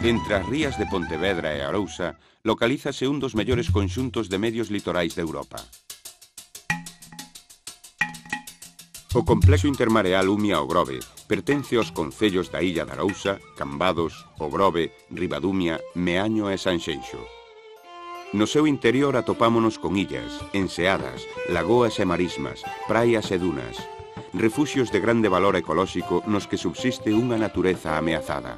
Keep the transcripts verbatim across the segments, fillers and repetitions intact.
Entre as rías de Pontevedra e Arousa localízase un dos mellores conxuntos de medios litorais de Europa. O complexo intermareal Umia o Grove pertence aos concellos da Illa de Arousa, Cambados, O Grove, Ribadumia, Meaño e Sanxenxo. No seu interior atopámonos con illas, enseadas, lagoas e marismas, praias e dunas, refuxios de grande valor ecolóxico nos que subsiste unha natureza ameazada.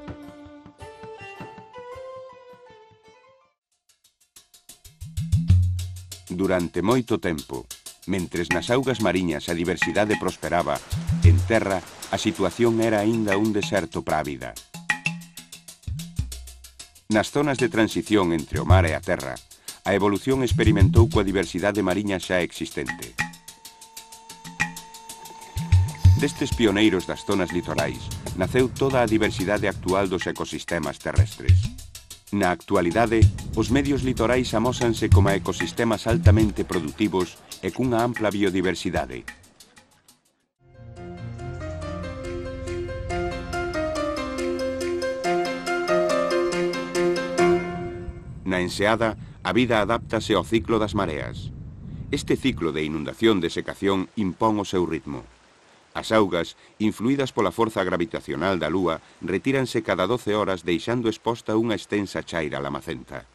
Durante moito tempo, mentres nas augas mariñas a diversidade prosperaba, en terra a situación era aínda un deserto para a vida. Nas zonas de transición entre o mar e a terra, a evolución experimentou coa diversidade mariña xa existente. Destes pioneiros das zonas litorais, naceu toda a diversidade actual dos ecosistemas terrestres. Na actualidade, os medios litorais amósanse como ecosistemas altamente produtivos e cunha ampla biodiversidade. Na enseada, a vida adáptase ao ciclo das mareas. Este ciclo de inundación-desecación impón o seu ritmo. As augas, influídas pola forza gravitacional da Lúa, retíranse cada doce horas deixando exposta unha extensa chaira lamacenta.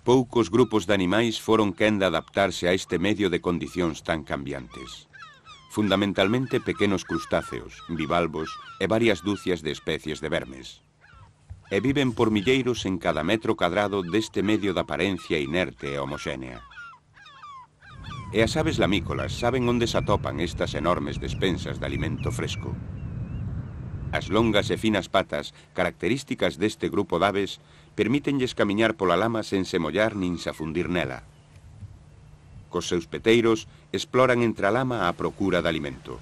Poucos grupos de animais foron quen de adaptarse a este medio de condicións tan cambiantes. Fundamentalmente pequenos crustáceos, bivalvos e varias dúcias de especies de vermes. E viven por milleiros en cada metro cadrado deste medio de aparencia inerte e homoxénea. E as aves lamícolas saben onde se atopan estas enormes despensas de alimento fresco. As longas e finas patas, características deste grupo de aves, permítenlles camiñar pola lama sen se mollar nin se afundir nela. Cos seus peteiros, exploran entre a lama a procura de alimento.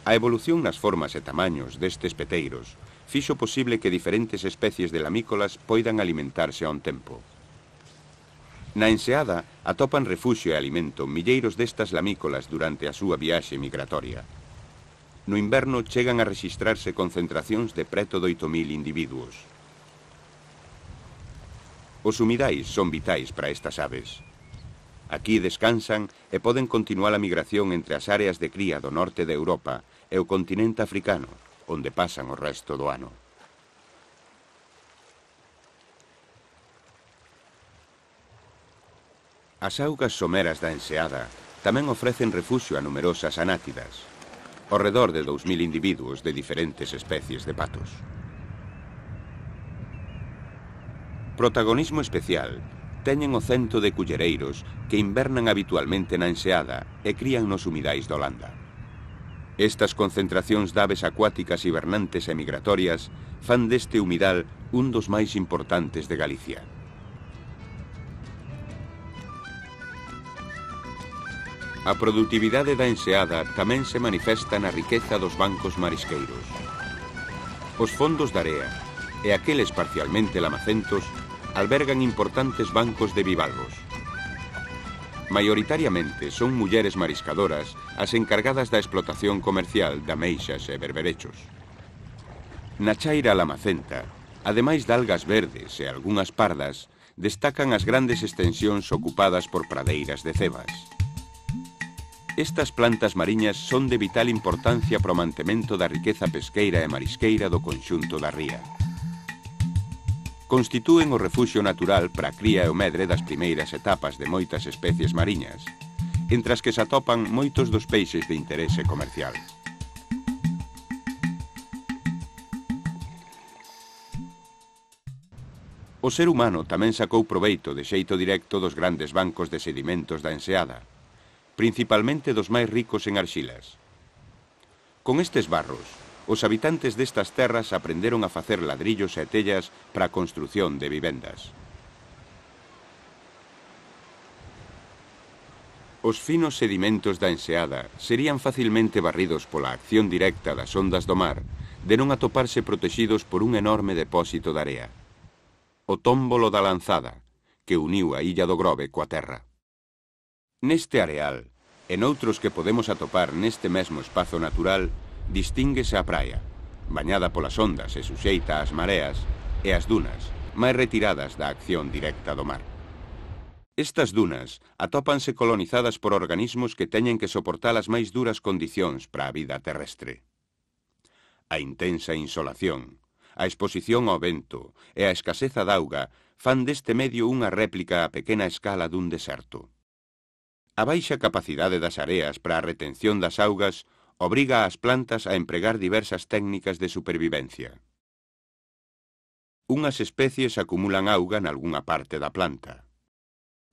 A evolución nas formas e tamaños destes peteiros fixo posible que diferentes especies de lamícolas poidan alimentarse a un tempo. Na enseada atopan refuxio e alimento milleiros destas lamícolas durante a súa viaxe migratoria. No inverno chegan a rexistrarse concentracións de preto de oito mil individuos. Os humidais son vitais para estas aves. Aquí descansan e poden continuar a migración entre as áreas de cría do norte de Europa e o continente africano, onde pasan o resto do ano. As augas someras da enseada tamén ofrecen refuxio a numerosas anátidas, ao redor de dous mil individuos de diferentes especies de patos. Protagonismo especial teñen o cento de cullereiros que invernan habitualmente na enseada e crían nos humidais de Holanda. Estas concentracións de aves acuáticas hibernantes e migratorias fan deste humidal un dos máis importantes de Galicia. A produtividade da enseada tamén se manifesta na riqueza dos bancos marisqueiros. Os fondos de area e aqueles parcialmente lamacentos albergan importantes bancos de bivalvos. Maioritariamente son mulleres mariscadoras as encargadas da explotación comercial de ameixas e berberechos. Na chaira lamacenta, ademais de algas verdes e algunhas pardas, destacan as grandes extensións ocupadas por pradeiras de cebas. Estas plantas mariñas son de vital importancia para o mantemento da riqueza pesqueira e marisqueira do conxunto da ría. Constitúen o refuxio natural para a cría e o medre das primeiras etapas de moitas especies mariñas, entre as que se atopan moitos dos peixes de interese comercial. O ser humano tamén sacou proveito de xeito directo dos grandes bancos de sedimentos da enseada, principalmente dos máis ricos en arxilas. Con estes barros, os habitantes destas terras aprenderon a facer ladrillos e tellas para a construción de vivendas. Os finos sedimentos da enseada serían facilmente barridos pola acción directa das ondas do mar, de non atoparse protexidos por un enorme depósito de area. O tómbolo da Lanzada, que uniu a Illa do Grove coa terra. Neste areal, e noutros que podemos atopar neste mesmo espazo natural, distínguese a praia, bañada polas ondas e suxeita ás mareas, e as dunas, máis retiradas da acción directa do mar. Estas dunas atópanse colonizadas por organismos que teñen que soportar as máis duras condicións para a vida terrestre. A intensa insolación, a exposición ao vento e a escaseza d'auga fan deste medio unha réplica a pequena escala dun deserto. A baixa capacidade das areas para a retención das augas obriga ás plantas a empregar diversas técnicas de supervivencia. Unhas especies acumulan auga nalgunha parte da planta.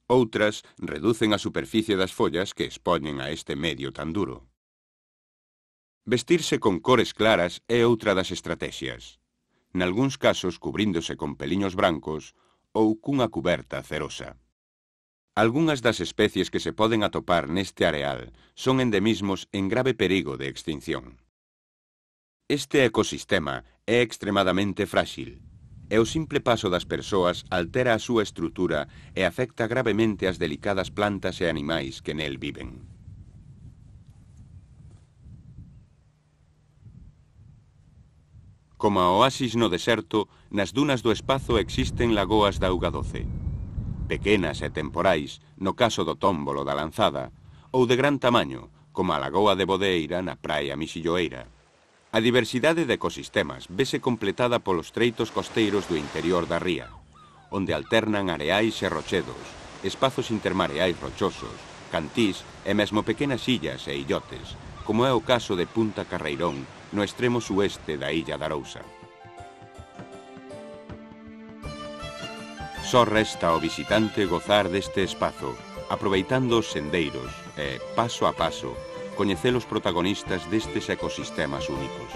Outras reducen a superficie das follas que expoñen a este medio tan duro. Vestirse con cores claras é outra das estrategias, nalgúns casos cubríndose con peliños brancos ou cunha cuberta cerosa. Algunhas das especies que se poden atopar neste areal son endemismos en grave perigo de extinción. Este ecosistema é extremadamente frágil, e o simple paso das persoas altera a súa estrutura e afecta gravemente as delicadas plantas e animais que nel viven. Como a oasis no deserto, nas dunas do espazo existen lagoas de auga doce. Pequenas e temporais, no caso do tómbolo da lanzada, ou de gran tamaño, como a lagoa de Bodeira na praia Mixilloeira. A diversidade de ecosistemas vese completada polos treitos costeiros do interior da ría, onde alternan areais e rochedos, espazos intermareais rochosos, cantís e mesmo pequenas illas e illotes, como é o caso de Punta Carreirón, no extremo sueste da illa de Arousa. Só resta ao visitante gozar deste espazo, aproveitando os sendeiros e, paso a paso, coñecer os protagonistas destes ecosistemas únicos.